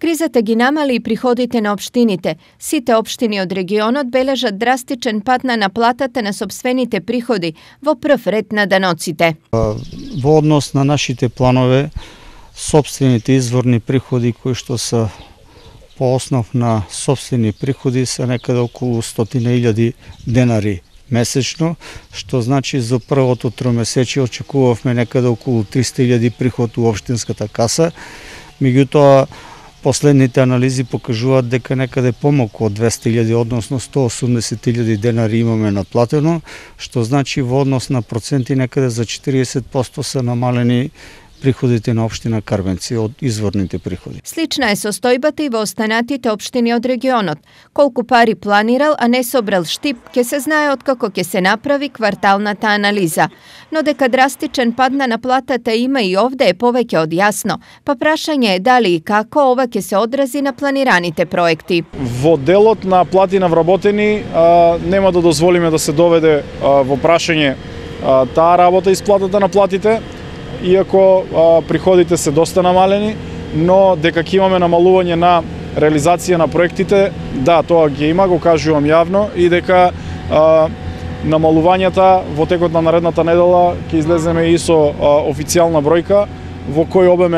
Кризата ги намали и приходите на општините. Сите општини од регионот бележат драстичен пад на наплатата на сопствените приходи во прв ред на даноците. Во однос на нашите планове, сопствените изворни приходи кои што се по основ на сопствени приходи се некаде околу 100.000 денари месечно, што значи за првото тромесечие очекувавме некаде околу 300.000 приход у општинската каса. Меѓутоа, последните анализи покажуваат дека некаде помалку од 200.000, односно 180.000 денари имаме наплатено, што значи во однос на проценти некаде за 40% се намалени приходите на општина Карвенци од изворните приходи. Слична е состојбата и во останатите општини од регионот. Колку пари планирал, а не собрал штип, ќе се знае откако ќе се направи кварталната анализа. Но дека драстичен пад на наплатата има и овде е повеќе од јасно. Па прашање е дали и како ова ќе се одрази на планираните проекти. Во делот на плати на вработени нема да дозволиме да се доведе во прашање таа работа исплатата на платите, иако приходите се доста намалени, но дека ќе имаме намалување на реализација на проектите, да, тоа ќе има, го кажувам јавно, и дека намалувањата во текот на наредната недела ќе излеземе и со официјална бројка во кој обем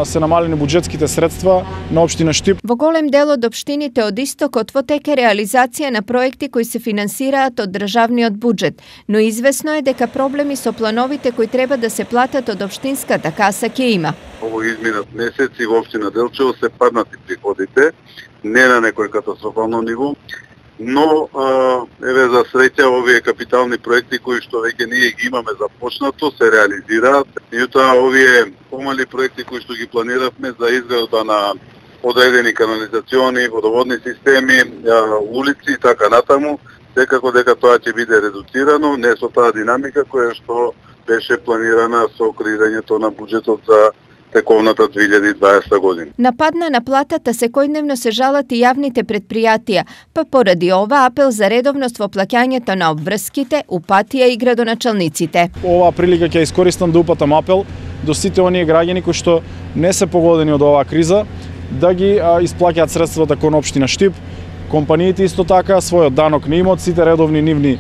се намалени буџетските средства на општина Штип. Во голем дел од општините од истокот во теке реализација на проекти кои се финансираат од државниот буџет, но извесно е дека проблеми со плановите кои треба да се платат од општинската каса ќе има. Ово изминат месеци во општина Делчево се паднати приходите, не на некој катастрофално ниво, но еве за среќа овие капитални проекти кои што веќе ние ги имаме започнато се реализираат. Меѓутоа овие помали проекти кои што ги планиравме за изградба на одредени канализациони, водоводни системи, улици и така натаму, секако дека тоа ќе биде редуцирано, не со таа динамика која што беше планирана со креирањето на буџетот за тековната 2020 година. На пад на наплатата секојдневно се жалат и јавните предпријатија, па поради ова апел за редовност во плаќањето на обврските, упатија и градоначалниците. Оваа прилика ќе искористам да упатам апел до сите оние граѓани кои што не се погодени од оваа криза, да ги исплаќаат средствата кон општина Штип, компаниите исто така својот данок на имот, сите редовни нивни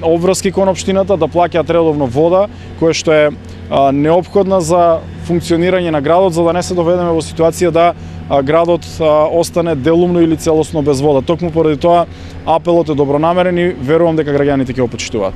обврски кон општината, да плаќаат редовно вода, која што е неопходна за функционирање на градот, за да не се доведеме во ситуација да градот остане делумно или целосно без вода. Токму поради тоа апелот е добронамерен и верувам дека граѓаните ќе го почитуваат.